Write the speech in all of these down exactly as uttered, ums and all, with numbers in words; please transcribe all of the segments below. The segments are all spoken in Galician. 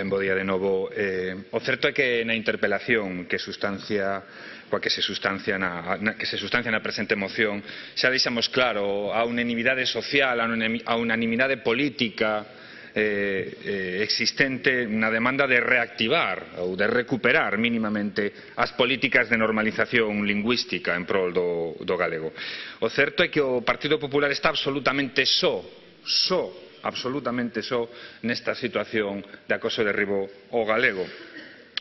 Ben, bo día de novo. Eh, o certo é que na interpelación que sustancia coa que se sustancia na, na, que se sustancia na presente moción xa deixamos claro a unanimidade social, a unanimidade política eh, eh, existente na demanda de reactivar ou de recuperar mínimamente as políticas de normalización lingüística en prol do, do galego. O certo é que o Partido Popular está absolutamente só, só absolutamente só nesta situación de acoso e derribo ao galego.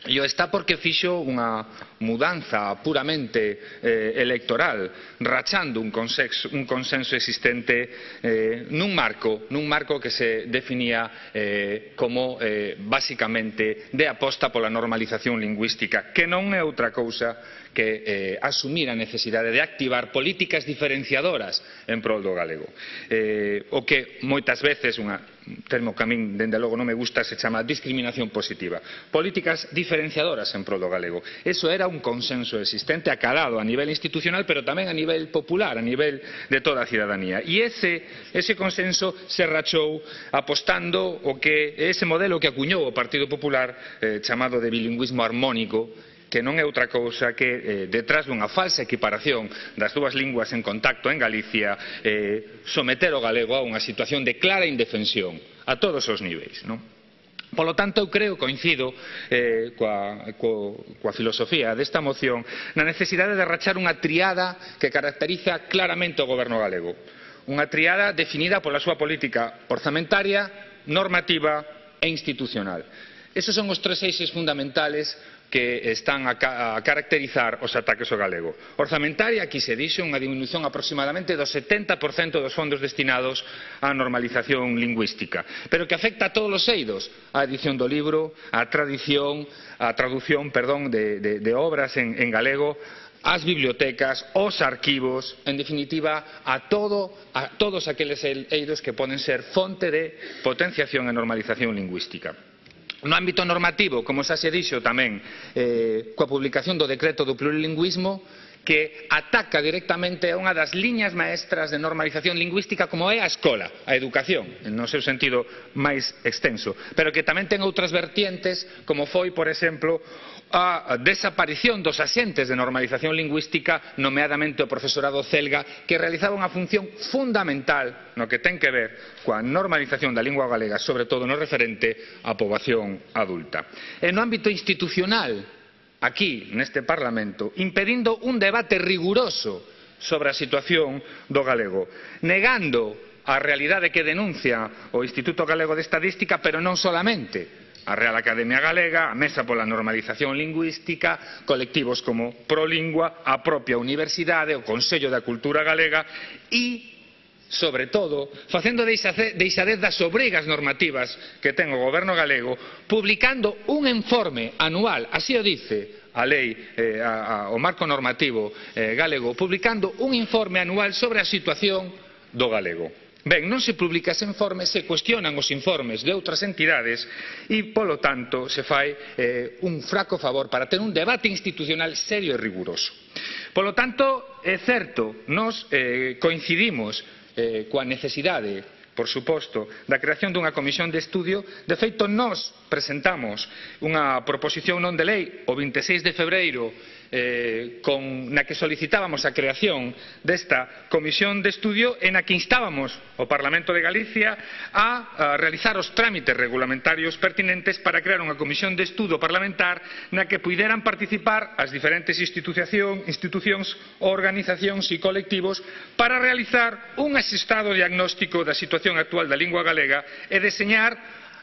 E o está porque fixo unha mudanza puramente eh, electoral, rachando un consenso, un consenso existente eh, nun marco, nun marco que se definía eh, como eh, basicamente de aposta pola normalización lingüística, que non é outra cousa que eh, asumir a necesidade de activar políticas diferenciadoras en prol do galego. Eh, o que moitas veces, un termo que a min dende logo non me gusta, se chama discriminación positiva. Políticas diferenciadoras en prol do galego. Eso era un consenso existente acalado a nivel institucional, pero tamén a nivel popular, a nivel de toda a cidadanía. E ese, ese consenso se rachou apostando o que ese modelo que acuñou o Partido Popular eh, chamado de bilingüismo armónico, que non é outra cousa que eh, detrás dunha falsa equiparación das dúas linguas en contacto en Galicia eh, someter o galego a unha situación de clara indefensión a todos os niveis, non? Polo tanto, eu creo, coincido eh, coa, coa, coa filosofía desta moción na necesidade de rachar unha triada que caracteriza claramente o goberno galego. Unha triada definida pola súa política orzamentaria, normativa e institucional. Esos son os tres eixes fundamentales que están a, ca a caracterizar os ataques ao galego. Orzamentaria, aquí se dixo unha disminución aproximadamente do setenta por cento dos fondos destinados á normalización lingüística, pero que afecta a todos os eidos, a edición do libro, a tradición, a traducción, perdón, de, de, de obras en, en galego, as bibliotecas, os arquivos, en definitiva, a, todo, a todos aqueles eidos que poden ser fonte de potenciación e normalización lingüística. No ámbito normativo, como xa se dixo tamén, eh, coa publicación do decreto do plurilingüismo, que ataca directamente a unha das liñas maestras de normalización lingüística como é a escola, a educación, no seu sentido máis extenso, pero que tamén ten outras vertientes, como foi, por exemplo, a desaparición dos axentes de normalización lingüística, nomeadamente o profesorado celga, que realizaba unha función fundamental no que ten que ver coa normalización da lingua galega, sobre todo no referente á poboación adulta. E no ámbito institucional, aquí, neste Parlamento, impedindo un debate riguroso sobre a situación do galego, negando a realidade que denuncia o Instituto Galego de Estadística, pero non solamente a Real Academia Galega, a Mesa pola Normalización Lingüística, colectivos como Prolingua, a propia Universidade, o Consello da Cultura Galega e, sobre todo, facendo deixadez das obrigas normativas que ten o goberno galego, publicando un informe anual, así o dice a lei, eh, a, a, o marco normativo eh, galego, publicando un informe anual sobre a situación do galego. Ben, non se publica ese informe, se cuestionan os informes de outras entidades e, polo tanto, se fai eh, un fraco favor para ter un debate institucional serio e riguroso. Polo tanto, é certo, nos eh, coincidimos eh, coa necesidade, por suposto, da creación dunha comisión de estudio. De feito, nós presentamos unha proposición non de lei o vinte e seis de febreiro Eh, con, na que solicitábamos a creación desta comisión de estudio e na que instábamos o Parlamento de Galicia a, a realizar os trámites regulamentarios pertinentes para crear unha comisión de estudo parlamentar na que puideran participar as diferentes institución, institucións, organizacións e colectivos para realizar un asestado diagnóstico da situación actual da lingua galega e deseñar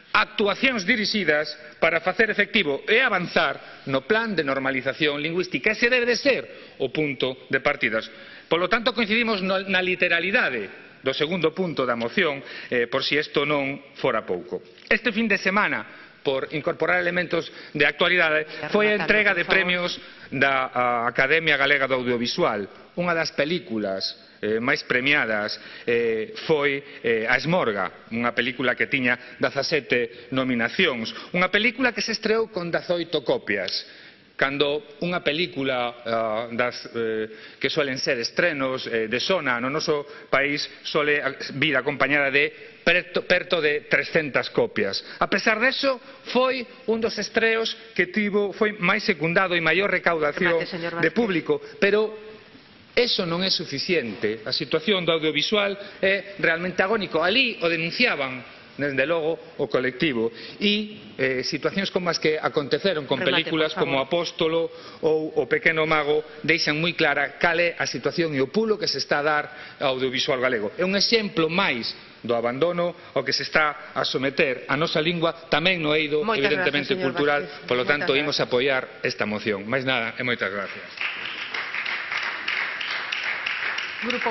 actuacións dirixidas para facer efectivo e avanzar no plan de normalización lingüística. Ese debe de ser o punto de partidas. Polo tanto, coincidimos na literalidade do segundo punto da moción, eh, por si isto non fora pouco. Este fin de semana, por incorporar elementos de actualidade, foi a entrega de premios da Academia Galega do Audiovisual. Unha das películas eh, máis premiadas eh, foi eh, A Esmorga, unha película que tiña dezasete nominacións, unha película que se estreou con dezaoito copias. cando unha película uh, das, eh, que suelen ser estrenos eh, de sona no noso país sole vir acompañada de perto, perto de trescentas copias. A pesar deso, foi un dos estreos que tivo, foi máis secundado e maior recaudación de público, pero eso non é suficiente. A situación do audiovisual é realmente agónico. Ali o denunciaban desde logo o colectivo e eh, situacións como as que aconteceron con Remate, películas como Apóstolo ou O Pequeno Mago deixan moi clara cal é a situación e o pulo que se está a dar ao audiovisual galego. É un exemplo máis do abandono ao que se está a someter a nosa lingua tamén no eido Moitas evidentemente gracias, cultural, Vázquez. polo tanto Moitas imos apoiar esta moción. Máis nada e moitas gracias. Grupo